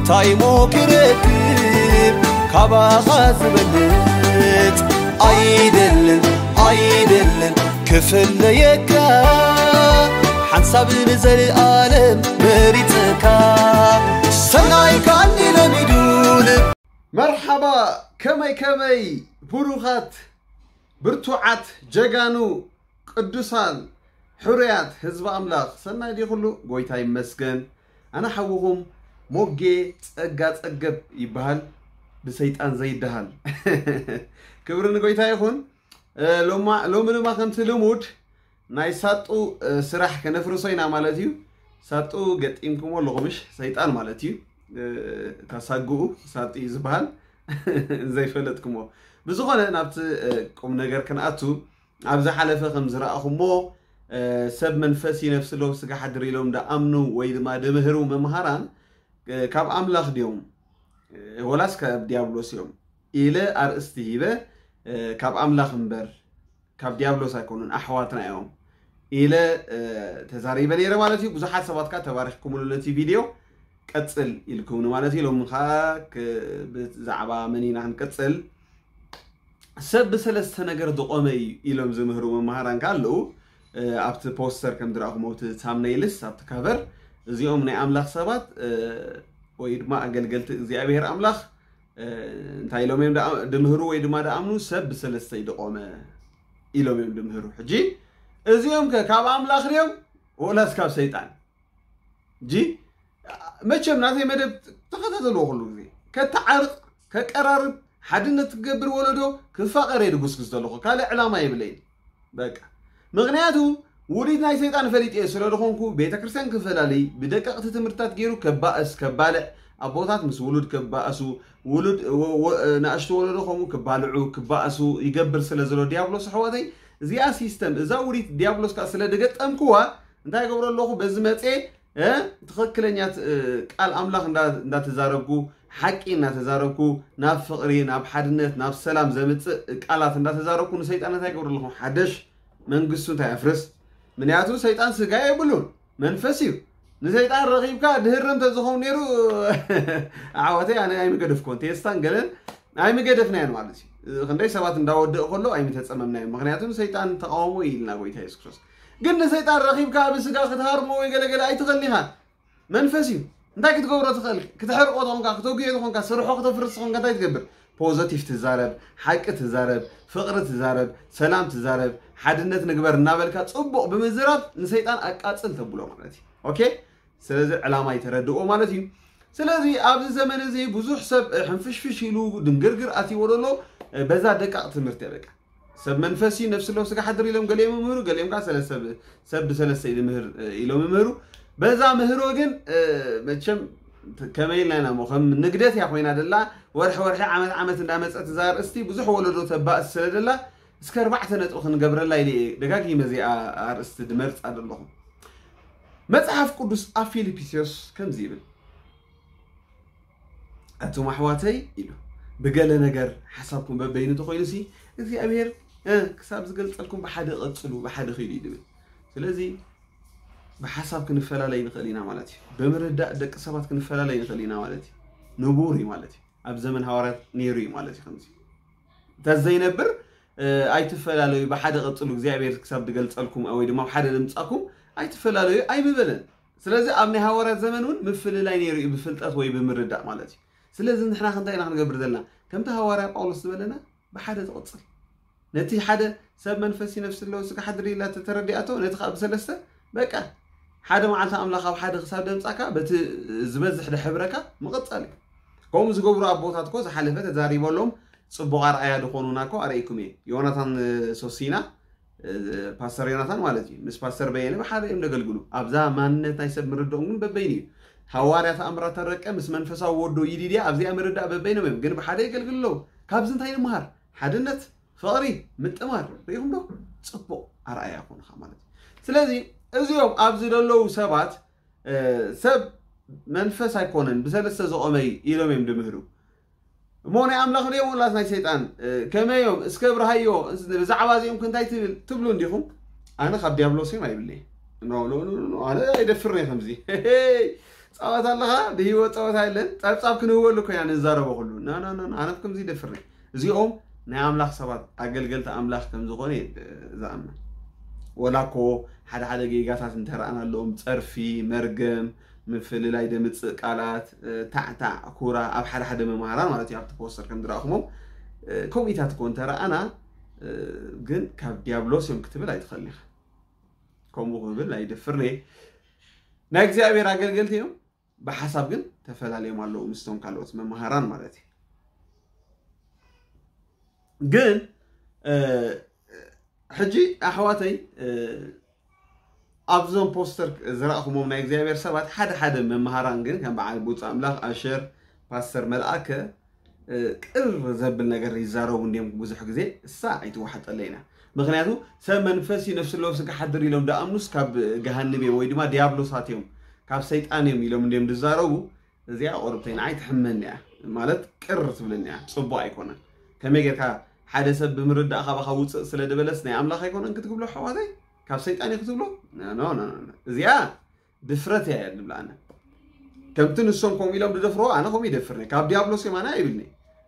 ታይሞ ክረክብ ካባኻ ዝበልጽ ኣይደልን ኣይደልን ክፍለየካ ሓንሳብ ንዘለኣለም መሪጽካ ሰናይ ካኒ ለሚዱ ልብ መርሓባ ከመይ ከመይ ብሩኻት ብርቱዓት ጀጋኑ ቅዱሳን ሕሩያት ህዝቢ ኣምላኽ ሰናይ ድዩ ኩሉ? ጎይታ ይመስገን። ኣነ ሓውኹም ሞጌ ጸጋ ጸገብ ይበሃል፣ ብሰይጣን ዘይደሃል። ክብሪ ንጎይታ ይኹን። እ፣ ሎማ- ሎሚ ድማ ከምቲ ልሙድ ናይ ሳጡ እ፣ ስራሕ ከነፍርሶ ኢና ማለት እዩ። ሳጡ ገጢምኩሞ ኣለኹምሽ ሰይጣን ማለት እዩ። እ፣ እታ ሳጉኡ ሳጡ እዩ ዝበሃል ዘይፈለጥኩሞ። ብዝኾነ ናብቲ እ፣ ቁም ነገር ክንኣቱ ኣብ ዝሓለፈ ከም ዝረኣኹሞ እ፣ ሰብ መንፈስ ይነፍስ ለው ስጋ ሓድር ኢሎም ደኣምኑ ወይ ድማ ድምህሩ መምሃራን እ፣ ካብ ኣምላኽ ድዮም እ፣ ወላስ ካብ ዲያብሎስ እዮም ኢለ ኣርእስቲ ሂበ እ፣ ካብ ኣምላኽ እምበር ካብ ዲያብሎስ ኣይኮኑን ኣሕዋትና እዮም ኢለ እ፣ ተዛሪበ ነይረ ማለት እዩ። ብዙሓት ሰባት ከዓ ተባሪኽኩምሉ ነቲ ቪድዮ ቀጽል ኢልኩምኒ ማለት እዩ። ሎሚ ከዓ ክ- ብዛዕባ መን ኢና ክንቀጽል ሰብ ብሰለስተ ነገር ዝቆመ እዩ ኢሎም ዝምህሩ መምሃራን ከዓ ኣለዉ። እ፣ ኣብቲ ፖስተር ከም ዝረኣኹም ኣብቲ ሳምነይልስ ኣብቲ ካቨር እዚኦም ናይ ኣምላኽ ሰባት እ፣ ወይ ድማ ኣገልገልቲ እግዚኣብሔር ኣምላኽ እ፣ እንታይ ኢሎም እዮም ደኣ- ድምህሩ ወይ ድማ ደኣምኑ ሰብ ብሰለስተ እዩ ዝቆመ ኢሎም እዮም ድምህሩ። ሕጂ እዚኦም ከ ካብ ኣምላኽ ድዮም ወላስ ካብ ሰይጣን? ጂ መቸም ናተይ መደብ ተኸታተልዎ ኩሉ ግዜ ከተዓርቕ ከቀራርብ ሓድነት ትገብር ወለዶ ክፋቐር እየ ድጉስጉስ ዘለኹ ካልእ ዕላማ የብለይን በቃ ምኽንያቱ ውዲት ናይ ሰይጣን ፈሊጥ እየ ስለ ዝኾንኩ ቤተ ክርስቲያን ክፈላለይ ብደቀቕቲ ትምህርትታት ገይሩ ከባእስ ከባልዕ ኣቦታት ምስ ውሉድ ከባእሱ ውሉድ ወ- ወ- ናእሽቱ ወለዶ ከምኡ ክባልዑ ክባእሱ ይገብር ስለ ዘሎ ዲያብሎስ ኣሕዋተይ እዚኣ ሲስተም እዛ ውዲት ዲያብሎስ ከዓ ስለ ድገጠምክዋ እንታይ ገብሮ ኣለኹ በዚ መፅኤ እ፣ ትኽክለኛ ት- እ፣ ቃል ኣምላኽ እንዳ- እንዳተዛረብኩ ሓቂ እናተዛረብኩ ናብ ፍቕሪ ናብ ሓድነት ናብ ሰላም ዘምፅእ ቃላት እንዳተዛረብኩ ንሰይጣን እንታይ ገብሩ ኣለኹ ሓደሽ መንግስቱ እንታይ ኣፍርስ ምክንያቱ ሰይጣን ስጋ የብሉን መንፈስ እዩ ንሰይጣን ረኺብካ ድህርም ተዝኸውን ነይሩ ኣሕዋተይ ኣነ ኣይምገደፍኩን ቴስታን ገለን ኣይምገደፍናዮን ማለት እዩ ክንደይ ሰባት እንዳወደእ ከሎ ኣይምተፀመምናዮም ምክንያቱ ንሰይጣን ተቃወሞ ኢልና ጎይታ የሱስ ክርስቶስ ግን ንሰይጣን ረኺብካ ብስጋ ክትሃርሞ ወይ ገለገለ ኣይትኽእልን ኢኻ መንፈስ እዩ እንታይ ክትገብሮ ትኽእል ክትሕርቆ ተኾንካ ክተጉዮ ተኾንካ ስርሖ ክተፍርስ ተኾንካ እንታይ ትገብር ፖዘቲቭ ትዛረብ ሓቂ ትዛረብ ፍቕሪ ትዛረብ ሰላም ትዛረብ ሓድነት ንግበር እናበልካ ፅቡቕ ብምዝራብ ንሰይጣን ኣቃፅል ተብሎ ማለት እዩ ኦኬ ስለዚ ዕላማ ይተረድኦ ማለት እዩ ስለዚ ኣብዚ ዘመን እዚ ብዙሕ ሰብ ሕንፍሽፍሽ ኢሉ ድንግርግር ኣትይዎ ዘሎ በዛ ደቃቕ ትምህርቲ በቃ ሰብ መንፈስ እዩ ነፍሲ ለው ስጋ ሓድር ኢሎም ገሊኦም ይምህሩ ገሊኦም ከዓ ሰለስተ ሰብ ብሰለስተ ኢሉ ምህር ኢሎም ይምህሩ በዛ ምህሮ ግን መቸም ከመይ ኢልና ኢና ሞ ከም ንግደት እያ ኮይና ደላ ወርሒ ወርሒ ዓመት ዓመት እንዳመፀት እዛ ኣርእስቲ ብዙሕ ወለዶ ተባእስ ስለ ደላ እስከ ኣርባዕተ ነጥቢ ክንገብረላ ኢለ እየ ደጋጊመ እዚኣ ኣርእስቲ ድመርፃ ዘለኹ መፅሓፍ ቅዱስ ኣብ ፊልፒስዮስ ከምዚ ይብል ኣቱም ኣሕዋተይ ኢሉ ብገለ ነገር ሓሳብኩም በበይኑ ተኮይኑሲ እግዚኣብሔር ክሳብ ዝገልፀልኩም ብሓደ ቀፅሉ ብሓደ ኪዱ እዩ ዝብል ስለዚ ብሓሳብ ክንፈላለይ ንኽእል ኢና ማለት እዩ ብምርዳእ ደቂ ሰባት ክንፈላለይ ንኽእል ኢና ማለት እዩ ንቡር እዩ ማለት እዩ ኣብ ዘመን ሃዋርያት ነይሩ እዩ ማለት እዩ ከምዚ እንተዘይነብር ኣይትፈላለዩ ብሓደ ቀፅሉ እግዚኣብሔር ክሳብ ዝገልፀልኩም ወይ ድማ ሓደ ድምፃኩም ኣይትፈላለዩ ኣይምበለን ስለዚ ኣብ ናይ ሃዋርያት ዘመን እውን ምፍልላይ ነይሩ እዩ ብፍልጠት ወይ ብምርዳእ ማለት እዩ ስለዚ ንሕና ክንታይ ኢና ክንገብር ዘለና ከምቲ ሃዋርያ ጳውሎስ ዝበለና ብሓደ ትቕፅል ነቲ ሓደ ሰብ መንፈሲ ነፍሲ ኣለዎ ስጋ ሓድሪ ኢላ ተረዲኣቶ ነቲ ከዓ ብሰለስተ በቃ ሓደ መዓልቲ ኣምላኽ ኣብ ሓደ ክሳብ ደምፃካ በቲ ዝበዝሕ ደሕብረካ ምቕፃል እዩ ከምኡ ዝገብሩ ኣቦታት ኮ ዝሓለፈ ተዛሪበሎም ፅቡቕ ኣርኣያ ዝኾኑና ኮ ኣርእይኩም እየ ዮናታን ሶሲና ፓስተር ዮናታን ማለት እዩ ምስ ፓስተር በየነ ብሓደ እዮም ዘገልግሉ ኣብዛ ማንነት ናይ ሰብ ምርድኦም ግን በበይኑ እዩ ሃዋርያ ተኣምራት ተረቀ ምስ መንፈሳዊ ወዶ ይዲድያ ኣብዚኣ ምርዳእ በበይኖም እዮም ግን ብሓደ የገልግሉ ኣለዉ ካብዚ እንታይ ንምሃር ሓድነት ፍቕሪ ምጥማር ርኢኹም ዶ ፅቡቕ ኣርኣያ ኮንኻ ማለት እዩ ስለዚ እዚኦም ኣብዚ ዘለዉ ሰባት ሰብ መንፈስ ኣይኮነን ብሰለስተ ዝቖመ እዩ ኢሎም እዮም ድምህሩ እሞ ናይ ኣምላኽ ድዮም ወላስ ናይ ሰይጣን ከመይ እዮም እስከ ብርሃዮ ብዛዕባ እዚኦም ክንታይ ትብል ትብሉ እንዲኹም ኣነ ካብ ዲያብሎስ እዮም ኣይብለይ ኣነ ኣይደፍርን እየ ከምዚ ጸወታ ኣለኻ፣ ብህይወት ጸወታ የለን። ጸብጻብ ክንህበሉ ኮይና ንዛረቦ ኩሉ። ና፣ ና፣ ና፣ ና፣ ኣነ ከምዚ ይደፍር ነኝ። እዚኦም ናይ ኣምላኽ ሰባት፣ ኣገልገልቲ ኣምላኽ ከም ዝኾነ እየ ዝኣምን። ወላ እኮ ሓደ ሓደ ጌጋታት እንተረኣና ኣለዎም፣ ጸርፊ፣ መርገም፣ ምፍልላይ ደምጽእ ቃላት፣ እ፣ ታዕታዕ፣ ኩራ፣ ኣብ ሓደ ሓደ መምሃራን ማለት እዩ፣ ኣብቲ ፖስተር ከም ዝረኣኹሞም፣ እ፣ ከምኡታት እኮ እንተረኣና፣ እ፣ ግን ካብ ዲያብሎስ እዮም ክትብል ኣይትኽእልን ኢኻ። ከምኡ ክብል ኣይደፍርን እየ። ናይ እግዚኣብሔር ኣገልገልቲ እዮም፣ ብሓሳብ ግን ተፈላለዮም ኣለዉ ምስቶም ካልኦት መምሃራን ማለት እዩ። ግን፣ እ፣ ሕጂ ኣሕዋተይ፣ እ፣ ኣብዞም ፖስተር ዝረእኹሞም ናይ እግዚኣብሔር ሰባት ሓደ ሓደ መምሃራን ግን ከም በዓል ቡፅ ኣምላኽ ኣሸር፣ ፓስተር መልኣከ፣ እ፣ ቅር ዘብል ነገር ይዛረቡ እንዲዮም ብዙሕ ግዜ። እሳ ኣይትወሓጠለይ ኢና። ምኽንያቱ ሰብ መንፈስ እዩ፣ ነፍሲ ኣለዎ ስጋ ሓድር ኢሎም ደኣምኑስ ካብ ገሃንብ እዮም ወይ ድማ ዲያብሎሳት እዮም፣ ካብ ሰይጣን እዮም ኢሎም እንዲዮም ዝዛረቡ። እዚኣ ቁርብተይ ንዓይ ትሕመኒ እያ፣ ማለት ቅር ትብለኒ እያ፣ ጽቡቕ ኣይኮነን። ከመይ ጌርካ ሓደ ሰብ ብምርዳእ ካባኻ ውፅእ ስለ ዝበለስ ናይ ኣምላኽ ኣይኮነን ክትብሎ ኣሕዋተይ፣ ካብ ሰይጣን እዩ ክትብሎ? ኖ፣ ኖ፣ ኖ፣ ኖ። እዚኣ ድፍረት እያ እየ ዝብላ ኣነ። ከምቲ ንሶም ከምኡ ኢሎም ዝደፍርዎ ኣነ ከምኡ ይደፍርኒ፣ ካብ ዲያብሎስ እዮም ኣነ ኣይብልኒ።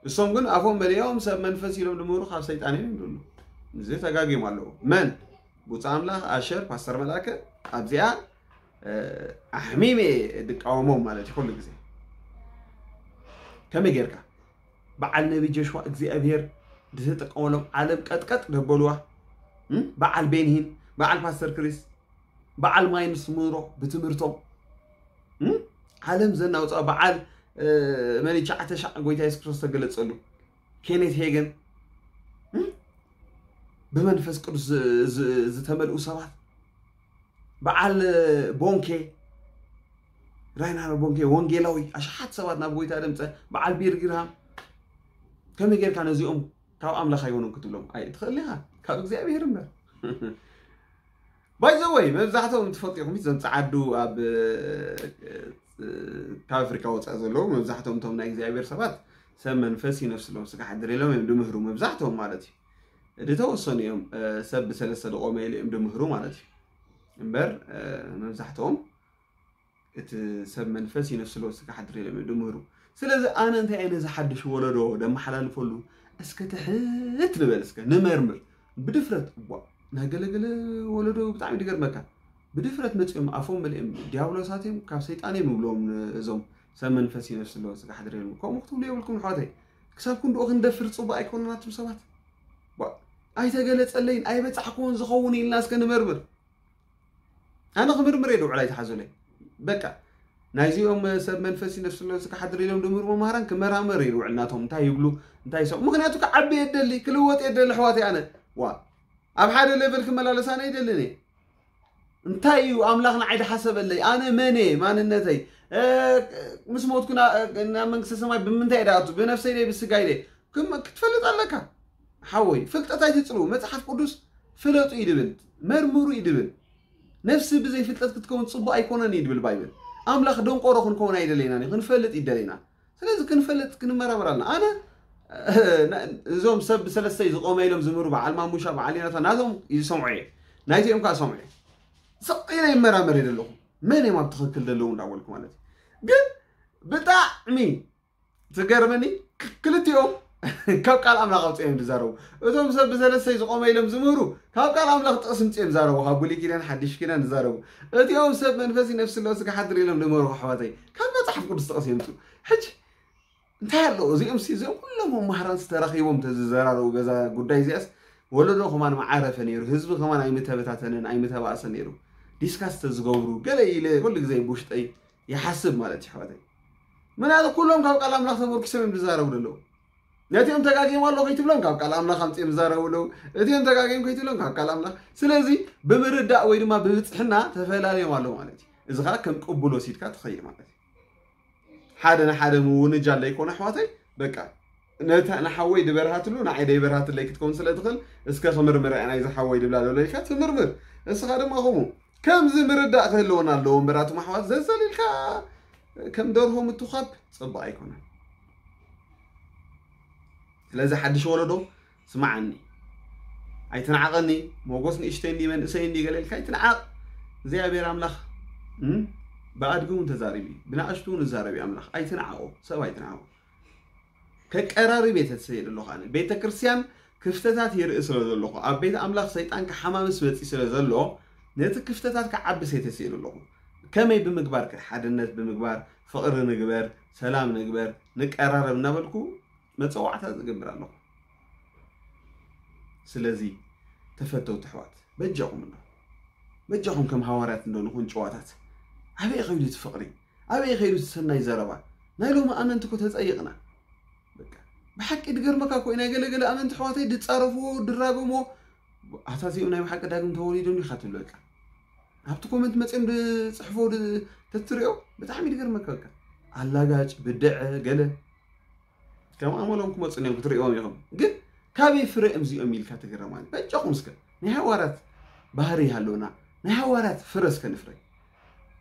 እሶም ግን ኣፎም መሊኦም ሰብ መንፈስ ኢሎም ድምህሩ ካብ ሰይጣን እዮም ይብሉ። እዚ ተጋግዮም ኣለዉ። መን? ቡፃ ኣምላኽ፣ ኣሸር፣ ፓስተር መልኣከ ኣብዚኣ፣ እ፣ ኣሕሚመ ድቃወሞም ማለት እዩ ኩሉ ግዜ። ከመይ ጌርካ? በዓል ነቢ ጆሽዋ እግዚኣብሔር ዝተጠቀመሎም ዓለም ቀጥቀጥ ደበልዋ። እም? በዓል ቤንሂን፣ በዓል ፓስተር ክሪስ፣ በዓል ማይንስ ሙንሮ ብትምህርቶም፣ እም? ዓለም ዘናውፃ በዓል፣ እ፣ መን እዩ? ሻዕተ ሻዕ ጎይታ የሱስ ክርስቶስ ተገለጸሉ። ኬኔት ሄገን፣ እም? ብመንፈስ ቅዱስ ዝ-፣ ዝ-፣ ዝተመልኡ ሰባት፣ በዓል ቦንኬ፣ ራይናር ቦንኬ ወንጌላዊ፣ ኣሽሓት ሰባት ናብ ጎይታ ደምፀ፣ በዓል ቢር ጊርሃም። ከመይ ጌርካ ነዚኦም ካብ ኣምላኽ ኣይኮኑን ክትብሎም? ኣይ፣ ትኽእል ኢኻ፣ ካብ እግዚኣብሔር እምበር። ባይ ዘ ወይ፣ መብዛሕትኦም ትፈልጡ ኢኹም፣ እዞም ጸዓዱ ኣብ፣ እ፣ ካብ ኣፍሪካ ወፃኢ ዘለዉ፣ መብዛሕትኦም እቶም ናይ እግዚኣብሔር ሰባት ሰብ መንፈስ እዩ፣ ነፍሲ ኣለዎም ስጋ ሓድር ኢሎም እዮም ድምህሩ፣ መብዛሕትኦም ማለት እዩ። ዝተወሰኑ እዮም፣ እ፣ ሰብ ብሰለስተ ዝቖመ ኢሉ እዮም ድምህሩ ማለት እዩ። እምበር፣ እ፣ መብዛሕትኦም እቲ ሰብ መንፈስ እዩ፣ ነፍሲ ኣለዎ ስጋ ሓድር ኢሎም እዮም ድምህሩ። ስለዚ ኣነ እንታይ እየ ነዚ ሓድሽ ወለዶ ደመሓላልፈሉ? እስከ ትሕት ንበል፣ እስከ ንመርምር። ብድፍረት፣ እዋ፣ ናይ ገለገለ ወለዶ ብጣዕሚ ድገርመካ። ብድፍረት መጺኦም ኣፎም መሊኦም ዲያብሎሳት እዮም፣ ካብ ሰይጣን እዮም ይብልዎም እዞም ሰብ መንፈስ እዩ፣ ነፍሲ ኣለዎ ስጋ ሓድር ኢሎም። ከምኡ ክትብሉ የብልኩም ኣሕዋተይ። ክሳብ ክንድኡ ክንደፍር ጽቡቕ ኣይኮነን ኣቱም ሰባት። ዋ፣ ኣይተገለጸለይን ኣይበጻሕኩዎን ዝኸውን ኢልና እስከ ንመርምር። ኣነ ክምርምር እየ ድውዕል ኣይትሓዙለይ። በቃ ናይዚኦም ሰብ መንፈስ እዩ፣ ነፍሲ ኣለዎ ስጋ ሓድር ኢሎም ድምህሩ መምሃራን ክመራመር እየ ድውዕል፣ ናቶም እንታይ ይብሉ፣ እንታይ ይሰምዑ። ምኽንያቱ ክዓቢ እየ ደሊ፣ ክልወጥ እየ ደሊ ኣሕዋተይ። ኣነ ዋ ኣብ ሓደ ሌቨል ክመላለስ ኣነ ኣይደልን እየ። እንታይ እዩ ኣምላኽ ንዓይ ድሓሰበለይ? ኣነ መን እየ? ማንነተይ፣ እ፣ ምስ ሞትኩ ና-፣ ናብ መንግስተ ሰማይ ብምንታይ እየ ድኣቱ? ብነፍሰይ ደይ ብስጋይ ደይ? ክም-፣ ክትፈልጥ ኣለካ ሓወይ። ፍልጠት ኣይትጽልኡ። መጽሓፍ ቅዱስ ፍለጡ እዩ ድብል፣ መርምሩ እዩ ድብል። ነፍሲ ብዘይ ፍልጠት ክትከውን ጽቡቕ ኣይኮነን እዩ ድብል ባይብል። ኣምላኽ ደንቆሮ ክንከውን ኣይደለይናን እዩ፣ ክንፈልጥ እዩ ደለይና። ስለዚ ክንፈልጥ ክንመራመር ኣለና። ኣነ፣ እዞም ሰብ ብሰለስተይ ዝቆመ ኢሎም ዝምህሩ በዓል ማሙሻ፣ በዓል ዮናታን ናቶም ይሰምዖ እየ። ናይቲኦም ከዓ ሰምዖ እየ። ስቕ ኢለ ይመራመር እየ ዘለኹ። መን እዮም ኣብ ትኽክል ዘለዉ እንዳበልኩ ማለት እዩ። ግን ብጣዕሚ ትገርመኒ፣ ክ-፣ ክልቲኦም ካብ ቃል ኣምላኽ ኣውፅኦም እዮም ዝዛረቡ። እቶም ሰብ ብሰለስተይ ዝቆመ ኢሎም ዝምህሩ ካብ ቃል ኣምላኽ ጥቕሲ ምፅኦም ይዛረቡ። ካብ ብሉይ ኪዳን ሓድሽ ኪዳን ዝዛረቡ። እቲኦም ሰብ መንፈስ ነፍሲ ኣለዎ ስጋ ሓድር ኢሎም ዝምህሩ ኣሕዋተይ ካብ መፅሓፍ ቅዱስ ጥቕሲ የምፅኡ። ሕጂ እንታይ ኣለዎ? እዚኦም ሲ-፣ እዚኦም ኩሎም መማህራን ዝተረኺቦም ተዝዘራረቡ በዛ ጉዳይ እዚኣስ ወለዶ ከማን መዓረፈ ነይሩ፣ ህዝቢ ከማን ኣይምተበታተነን፣ ኣይምተባእሰ ነይሩ። ዲስካስ ተዝገብሩ ገለ ኢለ ኩሉ ግዜ ብውሽጠይ ይሓስብ ማለት እዩ ኣሕዋተይ። ምክንያቱ ኩሎም ካብ ቃል ኣምላኽ ተመርኪሶም እዮም ዝዛረቡ ዘለዉ። ነቲኦም ተጋጊዮም ኣለዉ ከይትብሎም ካብ ቃል ኣምላኽ ኣምፅኦም ዝዛረቡ ኣለዉ። እቲኦም ተጋጊዮም ከይትብሎም ካብ ቃል ኣምላኽ። ስለዚ ብምርዳእ ወይ ድማ ብብፅሕና ተፈላለዮም ኣለዉ ማለት እዩ። እዚ ከዓ ከም ቅቡል ወሲድካ ትኸይድ ማለት እዩ። ሓደ ንሓደ ምውንጃል ዘይኮነ ኣሕዋተይ፣ በቃ ነታ ንሓወይ ድበርሃትሉ ንዓይ ደይበርሃትለይ ክትከውን ስለ ትኽእል፣ እስከ ክምርምር እያ ናይዚ ሓወይ ድብላ ዶ ኢልካ ትምርምር። እስኻ ድማ ከምኡ። ከምዚ ምርዳእ ክህልወና ኣለዎ እምበር ኣቱም ኣሕዋት ዘዘሊልካ ከም ደርሆ ምትኳብ ጽቡቕ ኣይኮነን። ስለዚ ሓድሽ ወለዶ ስማዓኒ፣ ኣይትንዓቐኒ። ሞጎስ ንእሽተይ እንዲ መንእሰይ እንዲ ገለ ኢልካ ኣይትንዓቕ። እግዚኣብሔር ኣምላኽ፣ እም፣ ብኣድጊ እውን ተዛሪቡ እዩ፣ ብንኣሽቱ እውን ይዛረብ እዩ ኣምላኽ። ኣይትንዓቑ፣ ሰብ ኣይትንዓቑ። ከቀራርብ እየ ተስፈ ዘለኹ ኣነ። ቤተ ክርስቲያን ክፍተታት ይርኢ ስለ ዘለኹ፣ ኣብ ቤት ኣምላኽ ሰይጣን ክሓማምስ መጺ ስለ ዘሎ፣ ነቲ ክፍተታት ክዓብስ እየ ተስፈ ዘለኹ። ከመይ ብምግባር ከ? ሓድነት ብምግባር፣ ፍቕሪ ንግበር፣ ሰላም ንግበር፣ ንቀራረብ እናበልኩ መጸዋዕታ ዝገብር ኣለኹ። ስለዚ ተፈተውቲ ኣሕዋት፣ በጃኹም እንዶ፣ በጃኹም ከም ሃዋርያት እንዶ ንኹን ጭዋታት። ኣበይ ከይዱ እቲ ፍቕሪ? ኣበይ ከይዱ እቲ ሰናይ ዘረባ? ናይ ሎሚ ኣመንቲ እኮ ተጸይቕና። በቃ፣ ብሓቂ ድገርመካ እኮ እዩ፣ ናይ ገለገለ ኣመንቲ ኣሕዋተይ ድጻረፍዎ፣ ድራገምዎ፣ ኣታ እዚኦም ናይ ብሓቂ ዳግም ተወሊዶም ኢኻ ትብል። በቃ፣ ኣብቲ ኮመንት መጺኦም ድጽሕፎ ድ-፣ ተትሪኦ ብጣዕሚ ድገርመካ። በቃ፣ ኣላጋጭ፣ ብድዐ፣ ገለ ከም ኣመሎም ክመጹ እዮም፣ ክትርእዮም ኢኹም። ግን ካበይ ፍረ እዮም እዚኦም ኢልካ ትግረም። ማለት በጃኹም እስከ ናይ ሃዋርያት ባህሪ ይሃለውና፣ ናይ ሃዋርያት ፍረ እስከ ንፍረ።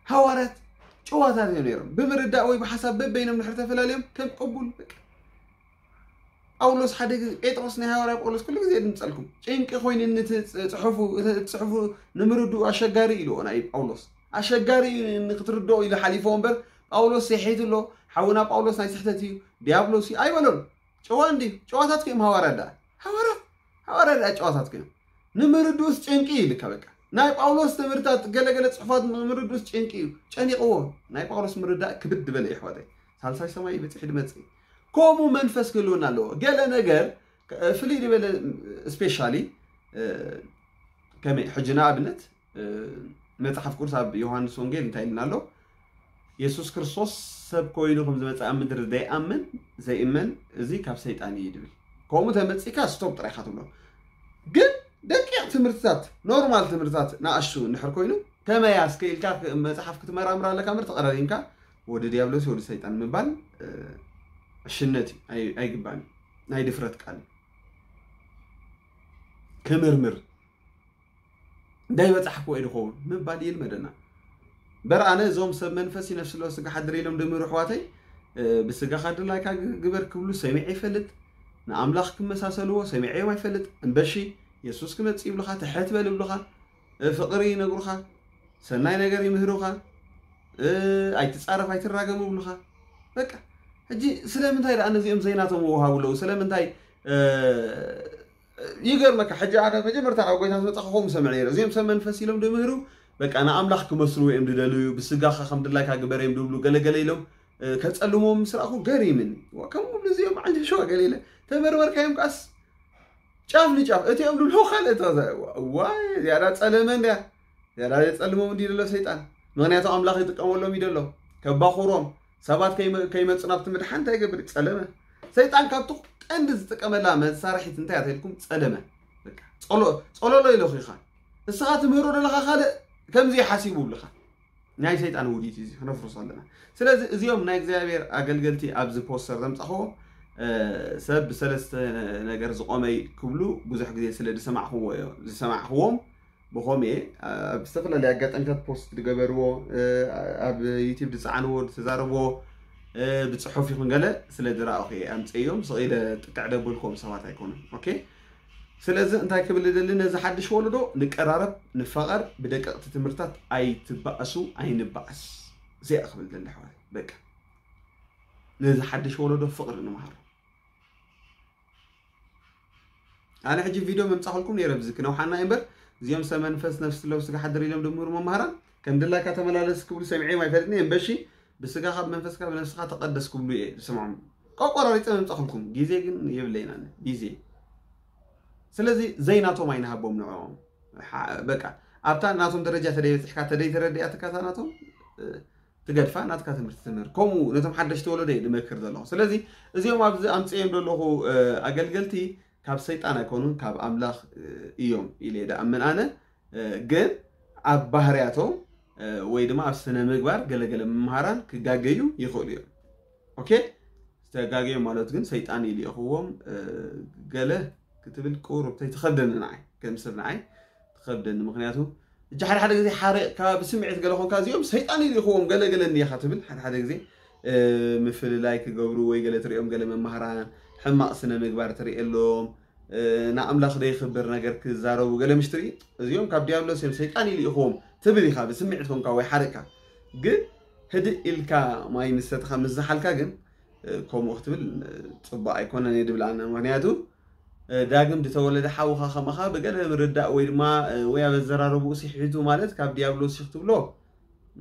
ሃዋርያት ጭዋታት እዮም ነይሮም። ብምርዳእ ወይ ብሓሳብ በበይኖም ድሕር ተፈላለዮም ከም ቅቡል፣ በቃ። ጳውሎስ ሓደ ግዜ፣ ጴጥሮስ፣ ናይ ሃዋርያ ጳውሎስ ኩሉ ግዜ ድምጸልኩም፣ ጭንቂ ኮይኑኒ እቲ ጽ-፣ ጽሑፉ፣ እቲ ጽሑፉ ንምርድኡ ኣሸጋሪ ኢልዎ ናይ ጳውሎስ። ኣሸጋሪ እዩ ንክትርድኦ ኢሉ ሓሊፎ እምበር፣ ጳውሎስ ስሒቱ ኣሎ፣ ሓውና ጳውሎስ ናይ ስሕተት እዩ፣ ዲያብሎስ እዩ ኣይበሎን። ጨዋ እንዲ ጨዋታት እዮም ሃዋርያ ደኣ። ሃዋርያ፣ ሃዋርያ ደኣ ጨዋታት እዮም። ንምርድኡስ ጭንቂ ይልካ በቃ። ናይ ጳውሎስ ትምህርታት፣ ገለገለ ጽሑፋት ንምርድኡስ ጭንቂ እዩ። ጨኒቕዎ። ናይ ጳውሎስ ምርዳእ ክብድ ዝበለ እዩ ኣሕዋተይ። ሳልሳይ ሰማይ በጺሑ ድመጽእ። ከምኡ መንፈስ ክህልወና ኣለዎ። ገለ ነገር፣ እ፣ ፍልይ ዝበለ፣ ስፔሻሊ፣ እ፣ ከመይ፣ ሕጂ ንኣብነት፣ እ፣ መጽሓፍ ቅዱስ ኣብ ዮሃንስ ወንጌል እንታይ ኢልና ኣሎ? የሱስ ክርስቶስ ሰብ ኮይኑ ከም ዝመጽእ ኣብ ምድሪ ዘይኣምን፣ ዘይእመን፣ እዚ ካብ ሰይጣን እዩ ድብል። ከምኡ ተመጺእካ ስቶፕ ጥራይ ኢኻ ትብሎ። ግን ደቂቕ ትምህርትታት፣ ኖርማል ትምህርትታት ንኣሽቱ እንድሕር ኮይኑ፣ ከመይ ኣስከ ኢልካ ክ-፣ መጽሓፍ ክትመራምር ኣለካ እምበር ተቐዳዲምካ ወዲ ዲያብሎስ፣ ወዲ ሰይጣን ምባል፣ እ፣ ዕሽነት እዩ፣ ኣይ-፣ ኣይግባእን እዩ። ናይ ድፍረት ቃል እዩ። ክምርምር፣ እንታይ በጻሕክዎ እዩ ድኸውን ምባል ይልመደና። እምበር ኣነ እዞም ሰብ መንፈስ እዩ፣ ነፍሲ ኣለዎ ስጋ ሓድር ኢሎም ድምህሩ ኣሕዋተይ፣ እ፣ ብስጋኻ ድላይካ ግ-፣ ግበር ክብሉ ሰሚዐ ይፈልጥ። ንኣምላኽ ክመሳሰልዎ ሰሚዐዮም ኣይፈልጥ። እምበሺ የሱስ ክመጽእ ይብሉኻ፣ ትሕት በል ይብሉኻ፣ እ፣ ፍቕሪ ይነግሩኻ፣ ሰናይ ነገር ይምህሩኻ፣ እ፣ ኣይትጻረፍ ኣይትራገሙ ይብሉኻ። በቃ፣ ሕጂ ስለምንታይ ደኣ ነዚኦም ዘይናቶም ወሃቡ ኣለዉ? ስለምንታይ፣ እ፣ ይገርመካ፣ ሕጂ ኣነ መጀመርታ ናብ ጎይታ ዝመጻኹ ከምኡ ሰምዐ ነይረ። እዚኦም ሰብ መንፈስ ኢሎም ድምህሩ፣ በቃ ንኣምላኽ ክመስሉ እዮም ድደልዩ፣ ብስጋኻ ከም ድላይካ ግበር እዮም ድብሉ፣ ገለገለ ኢሎም፣ እ፣ ከጸልምዎም ምስ ረኣኹ ገሪምኒ። ዋ፣ ከምኡ ክብሉ እዚኦም ዓንጀሸዋ ገለ ኢለ ተመርመርካዮም ከኣስ ጫፍ ንጫፍ፣ እቲኦም ድብሉ ካልእ ተዛ-፣ ዋይ፣ ዝያዳ ጸለመ እንድያ፣ ዝያዳ የጸልሞም እንዲ ዘሎ ሰይጣን። ምኽንያቱ ኣምላኽ ይጥቀመሎም እዩ ዘሎ፣ ከባኹሮም፣ ሰባት ከይመ-፣ ከይመጹ ናብቲ ምድሓን እንታይ ይገብር? ጸለመ። ሰይጣን ካብቲ ቀንዲ ዝጥቀመላ መሳርሒት እንታይ እያ ተልኩም? ጸለመ። በቃ፣ ጸሎ-፣ ጸሎሎ ኢለኹ ኢኻ። እስኻ ትምህሮ ዘለኻ ካልእ ከምዚ ሓሲቡ ብልኻ። ናይ ሰይጣን ውዲት እዩ፣ እዚ ክነፍርሶ ኣለና። ስለዚ እዚኦም ናይ እግዚኣብሔር ኣገልገልቲ ኣብዚ ፖስተር ዘምጻኽዎ፣ እ፣ ሰብ ብሰለስተ ነገር ዝቆመይ ክብሉ ብዙሕ ግዜ ስለ ዝሰማዕኽዎ እዮ-፣ ዝሰማዕኽዎም፣ ብኸምኡ እየ ኣብ ዝተፈላለዩ ኣጋጣሚታት ፖስት ዝገበርዎ፣ እ፣ ኣብ ዩቲዩብ ዝጸዓንዎ፣ ዝተዛረብዎ፣ እ፣ ብጽሑፍ ይኹን ገለ ስለ ዝረኣኹ እየ ኣምጽእዮም። ስቕ ኢለ ጥቅዕ ደበልክዎም ሰባት ኣይኮኑን። ኦኬ? ስለዚ እንታይ ክብል ደሊ፣ ነዚ ሓድሽ ወለዶ ንቀራረብ፣ ንፋቐር፣ ብደቀቕቲ ትምህርታት ኣይትባእሱ፣ ኣይንባኣስ። እዚኣ ክብል ደሊ ኣሕዋት። በቃ። ነዚ ሓድሽ ወለዶ ፍቕሪ ንምሃሮ። ኣነ ሕጂ ቪድዮ መምጻኹልኩም ነይረ፣ ብዚ ክነውሓና እምበር፣ እዚኦም ሰብ መንፈስ ነፍሲ ለው ስጋ ሓድር ኢሎም ድምሩ መምሃራን ከም ድላይካ ተመላለስ ክብሉ ሰሚዐዮም ኣይፈልጥን እየ። እምበሺ ብስጋኻ ብመንፈስካ ብነፍስኻ ተቐደስ ክብሉ እየ ዝሰምዖም። ቆቆራሪጸ መምጻኹልኩም፣ ግዜ ግን የብለይን ኣነ፣ ግዜ። ስለዚ ዘይናቶም ኣይንሃቦም ንዕኦም። ሓ-፣ በቃ፣ ኣብታ ናቶም ደረጃ ተደይበጽሕካ፣ ተደይተረድኣትካ እታ ናቶም፣ እ፣ ትገድፋ፣ ናትካ ትምህርቲ ትምህር። ከምኡ ነቶም ሓደሽቲ ወለዶ እየ ድመክር ዘለኹ። ስለዚ እዚኦም ኣብዚ ኣምጽእዮም ዘለኹ፣ እ፣ ኣገልገልቲ ካብ ሰይጣን ኣይኮኑን፣ ካብ ኣምላኽ፣ እ፣ እዮም ኢለ እየ ድኣምን ኣነ። እ፣ ግን ኣብ ባህርያቶም፣ እ፣ ወይ ድማ ኣብ ስነ ምግባር ገለገለ መምሃራን ክጋገዩ ይኽእሉ እዮም። ኦኬ? ዝተጋገዩ ማለት ግን ሰይጣን እዩ ልኢኽዎም፣ እ፣ ገለ ክትብል ቁሩብ ተይትኸብደኒ ንዓይ፣ ከም ሰብ ንዓይ ትኸብደኒ። ምኽንያቱ፣ እጂ ሓደ ሓደ ግዜ ሓሪቕካ ብስምዒት ገለ ኾንካ፣ እዚኦም ሰይጣን እዩ ልኢኽዎም፣ ገለ ገለ እንዲኻ ትብል። ሓደ ሓደ ግዜ፣ እ፣ ምፍልላይ ክገብሩ ወይ ገለ ትሪኦም፣ ገለ መማህራን ሕማቕ ስነ ምግባር ትሪኤሎም፣ እ፣ ንኣምላኽ ደይኽብር ነገር ክዛረቡ ገለ ምሽ ትርኢ፣ እዚኦም ካብ ዲያብሎስ እዮም፣ ሰይጣን እዩ ልኢኽዎም ትብል ኢኻ፣ ብስምዒት ኮንካ ወይ ሓሪቕካ። ግን ህድእ ኢልካ ማይ ምሰትኻ ምስ ዝሓልካ ግን፣ እ፣ ከምኡ ክትብል፣ እ፣ ጽቡቕ ኣይኮነን እየ ድብል ኣነ። ምኽንያቱ፣ እ፣ ዳግም ዝተወለደ ሓውኻ ከማኻ ብገለ ምርዳእ ወይ ድማ፣ እ፣ ወይ ኣብ ኣዘራረብኡ ስሒቱ ማለት ካብ ዲያብሎስ እዩ ክትብሎ፣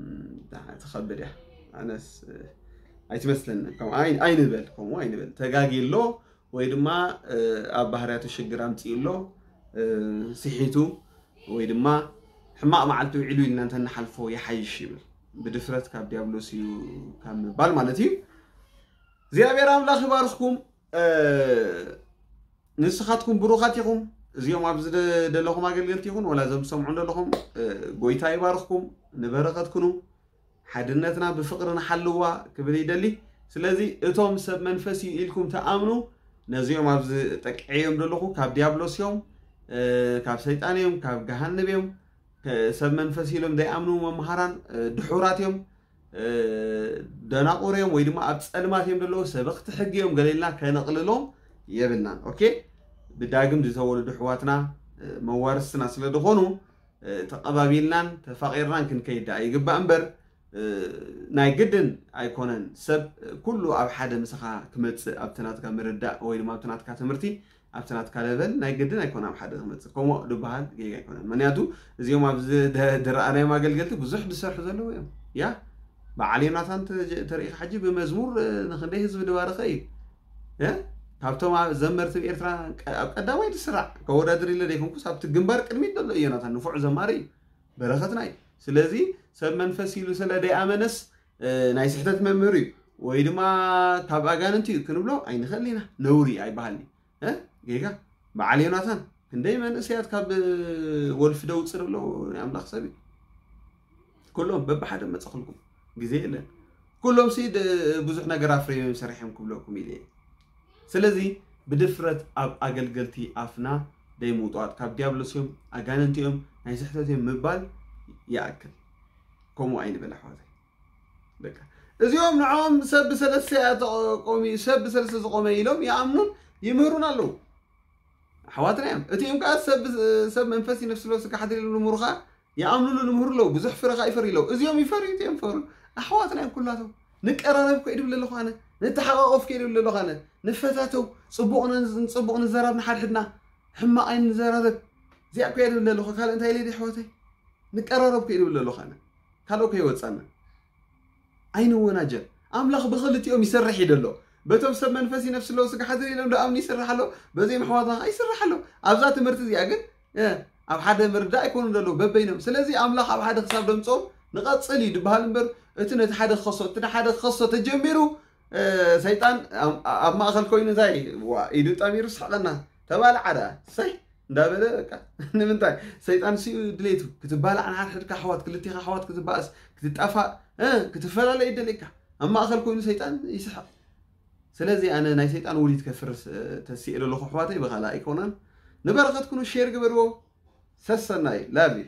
እም፣ ትኸብድ እያ። ኣነስ፣ እ፣ ኣይትመስለኒ። ከምኡ ኣይ-፣ ኣይንበል፣ ከምኡ ኣይንበል። ተጋግዩ ኣሎ ወይ ድማ፣ እ፣ ኣብ ባህርያቱ ሽግር ኣምጺኡ ኣሎ፣ እ፣ ስሒቱ ወይ ድማ ሕማቕ መዓልቲ ውዒሉ ኢልና እንተንሓልፎ ይሓይሽ ይብል። ብድፍረት ካብ ዲያብሎስ እዩ ካብ ምባል ማለት እዩ። እግዚኣብሔር ኣምላኽ ይባርኽኩም። እ፣ ንስኻትኩም ብሩኻት ኢኹም። እዚኦም ኣብዚ ደ-፣ ዘለኹም ኣገልገልቲ ይኹን፣ ወላ እዞም ትሰምዑ ዘለኹም፣ እ፣ ጎይታ ይባርኽኩም፣ ንበረኸት ኩኑ። ሓድነትና ብፍቕሪ ንሓልዋ ክብል ይደሊ። ስለዚ እቶም ሰብ መንፈስ እዩ ኢልኩም ትኣምኑ፣ ነዚኦም ኣብዚ ጠቅዐዮም ዘለኹ ካብ ዲያብሎስ እዮም፣ እ፣ ካብ ሰይጣን እዮም፣ ካብ ገሃነብ እዮም። ከ-፣ ሰብ መንፈስ ኢሎም ዘይኣምኑ መምሃራን፣ እ፣ ድሑራት እዮም። እ፣ ደናቑር እዮም ወይ ድማ ኣብ ጸልማት እዮም ዘለዉ፣ ሰበኽቲ ሕጊ እዮም ገለ ኢልና ከነቕልሎም የብልናን። ኦኬ? ብዳግም ዝተወለዱ ኣሕዋትና፣ እ፣ መዋርስትና ስለ ዝኾኑ፣ እ፣ ተቐባቢልናን ተፋቒርናን ክንከይድ ደኣ ይግባእ እምበር፣ እ፣ ናይ ግድን ኣይኮነን። ሰብ፣ እ፣ ኩሉ ኣብ ሓደ ምሳኻ ክመጽእ፣ ኣብቲ ናትካ ምርዳእ ወይ ድማ ኣብቲ ናትካ ትምህርቲ፣ ኣብቲ ናትካ ለቨል ናይ ግድን ኣይኮነ ኣብ ሓደ ክመጽእ። ከምኡ ድበሃል ጌጋ ኣይኮነን። ምኽንያቱ እዚኦም ኣብዚ ደ-፣ ድረኣናዮም ኣገልገልቲ ብዙሕ ዝሰርሑ ዘለዉ እዮም። ያ፣ በዓል ዮናታን ተ-፣ ተሪኢኻ ሕጂ ብመዝሙር፣ እ፣ ንኽንደይ ህዝቢ ድባረኸ እዩ። እ? ካብቶም ኣብ ዘመርቲ ኣብ ኤርትራ ቀ-፣ ኣብ ቀዳማይ ዝስራዕ፣ ከወዳድር ኢለ ዘይኮንኩስ ኣብቲ ግንባር ቅድሚት ዘሎ እዩ ዮናታን፣ ንፉዕ ዘማሪ እዩ። በረኸትና እዩ። ስለዚ ሰብ መንፈስ ኢሉ ስለ ደይኣመነስ፣ እ፣ ናይ ስሕተት መምህር እዩ ወይ ድማ ካብ ኣጋንንቲ እዩ ክንብሎ ኣይንኽእል ኢና። ነውሪ ኣይበሃልን እዩ። እ? ጌጋ። በዓል ዮናታን፣ ክንደይ መንእሰያት ካብ፣ እ፣ ወልፊ ደውፅእ ዘሎ ናይ ኣምላኽ ሰብ እዩ። ኩሎም በብሓደ መፀኽልኩም ግዜ የለን። ኩሎም ሲ ድ-፣ ብዙሕ ነገር ኣፍርዮም ሰሪሖም ክብለኩም ኢለ እየ። ስለዚ ብድፍረት ኣብ ኣገልገልቲ ኣፍና ደይምውጣጥ፣ ካብ ዲያብሎስ እዮም፣ ኣጋንንቲ እዮም፣ ናይ ስሕተት እዮም ምባል ይኣክል። ከምኡ ኣይንበል ኣሕዋተይ። በቃ እዚኦም ንዕኦም ሰብ ብሰለስተ እያ ተቆሚ-፣ ሰብ ብሰለስተ ዝቆመ ኢሎም ይኣምኑን ይምህሩን ኣለዉ። ኣሕዋትና እዮም። እቲኦም ከኣ ሰብ፣ ሰብ መንፈስ ነፍሲ ሎ ስጋ ሓድር ኢሎም ንምሩኻ ይኣምኑሉ ንምሩ ኣለዉ። ብዙሕ ፍረ ከኣ ይፈርዩ ኣለዉ። እዚኦም ይፈርዩ፣ እቲኦም ይፈርዩ። ኣሕዋትና እዮም ኩላቶም። ንቀራረብ እኮ ይድብል ኣለኹ ኣነ። ንተሓቃቆፍ እኮ ይድብል ኣለኹ ኣነ። ንፈታተው፣ ጽቡቕ ን-፣ ጽቡቕ ንዘራብ ንሓድሕድና። ሕማቕ ኣይንዘራረብ። እዚኣ እኮ ይድብል ኣለኹ። ካልእ እንታይ ኢለ ድየ ኣሕዋተይ? ንቀራረብ እኮ ይድብል ኣለኹ ኣነ። ካልእ እኮ ይወጻና። ኣይንወናጀል። ኣምላኽ ብኽልቲኦም ይሰርሕ እዩ ደሎ። በቶም ሰብ መንፈስ ነፍሲ ኣለዉ ስጋ ሓድር ኢሎም ደኣምኑ ይሰርሕ ኣሎ። በዚኦም ኣሕዋትና ኸዓ ይሰርሕ ኣሎ። ኣብዛ ትምህርቲ እዚኣ ግን፣ እ፣ ኣብ ሓደ ምርዳእ ኣይኮኑን ደለዉ በበይኖም። ስለዚ ኣምላኽ ኣብ ሓደ ክሳብ ደምጾም ንቐጽል እዩ ድበሃል እምበር፣ እቲ ነቲ ሓደ ክኸሶ፣ እቲ ሓደ ክኸሶ ተጀሚሩ፣ እ፣ ሰይጣን ኣብ፣ ኣብ ማእከል ኮይኑ እንታይ፣ ዋ፣ ኢዱ ጠሚሩ ስሕቐና። ተባልዓ ደኣ። ሰይ፣ እንዳበለ በቃ። ንምንታይ? ሰይጣን ሲኡ ድሌቱ። ክትባላዕ ንሓድሕድካ ኣሕዋት፣ ክልቴኻ ኣሕዋት ክትባእስ፣ ክትጣፋእ፣ እ፣ ክትፈላለ ይደልየካ። ኣብ ማእከል ኮይኑ ሰይጣን ይስሕቕ። ስለዚ ኣነ ናይ ሰይጣን ውዲት ከፍርስ፣ እ፣ ተሲኤ ዘለኹ ኣሕዋተይ ብኻልእ ኣይኮነን። ንበረኸት ኩኑ ሼር ግበርዎ። ሰሰናይ፣ ላቭ ዩ።